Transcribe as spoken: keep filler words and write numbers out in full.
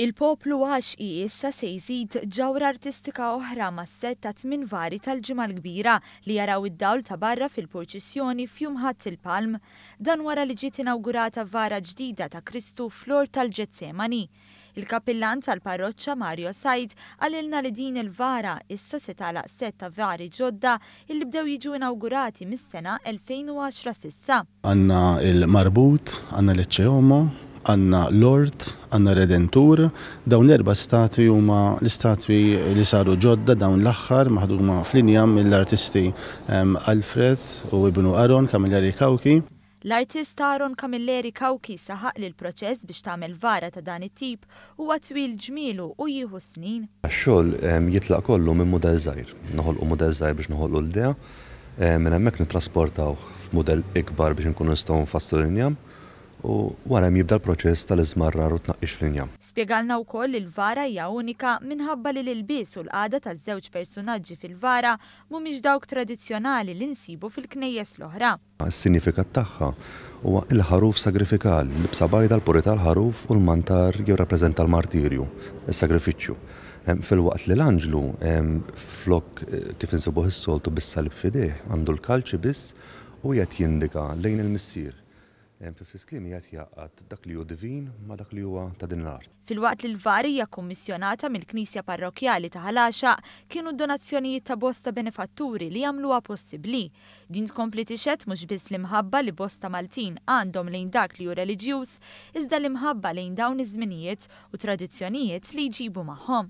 Il-poplu Għaxqi issa se jżid ġawhra artistika oħra mas-sett ta' tmien vari tal-Ġimgħa l-Kbira li jaraw id-dawl ta' barra fil-purċissjoni f'Jum Ħadd il-Palm. Dan wara li ġiet inawgurata vara ġdida ta' Kristu fl-Ort tal-Ġetsemani. Il-kappillan tal-parroċċa Mario Said qalilna li din il-vara issa se tagħlaq sett ta' vari ġodda illi bdew jiġu inawgurati mis-sena elfejn u għaxra s'issa. Għandna il-Marbut, għandna l-Ecce Homo, għandna l-Ort, għandna Redentur. Dawn l-erba' statwi huma l-istatwi li saru ġodda dawn l-aħħar maħduma fl-injam mill-artisti, ehm, Alfred u ibnu Aaron Camilleri Cauchi. L-artist Aaron Camilleri Cauchi saħaq li l-proċess biex tagħmel vara ta' dan it-tip huwa twil ġmielu u jieħu snin. Ix-xogħol, ehm, jitlaq kollu minn mudell żgħir. Noħolqu mudell żgħir biex noħolqu l-idea, ehm, minn hemmhekk nittrasportawh f'mudell ikbar biex inkunu nistgħu nfasslu l-injam. U wara hemm jibda l-proċess tal-iżmarrar u tnaqqix fl-injam. Spjegalna wkoll li l-vara hija unika minħabba li l-ilbies u l-qagħda taż-żewġ persunaġġi fil-vara mhumiex dawk tradizzjonali li nsibu fil-knejjes l-oħra. Is-sinifikat tagħha huwa l-ħaruf sagrifikali, l-libsa bajda, l-purità l-ħaruf u l-mantar jirrappreżenta l-martirju, is-sagrifiċċju. Em, filwaqt li l-anġlu, em, flok, eh, kif insibuh is-soltu bis-salib f'idejh, għandu l-kalċi biss u qed jindika lejn il-missier. Em, fi ftit kliem qiegħed jgħaqqad dak li hu divin ma' dak li huwa ta' din l-art. Filwaqt li l-vari hija kummissjonata mill-Knisja Parrokkjali ta' Ħal Għaxaq, kienu d-donazzjonijiet ta' bosta benefatturi li jagħmluha possibbli. Din tkompli tixhed mhux biss l-imħabba li bosta Maltin għandhom lejn dak li hu reliġjuż, iżda l-imħabba lejn dawn iż-żminijiet u tradizzjonijiet li jġibu magħhom.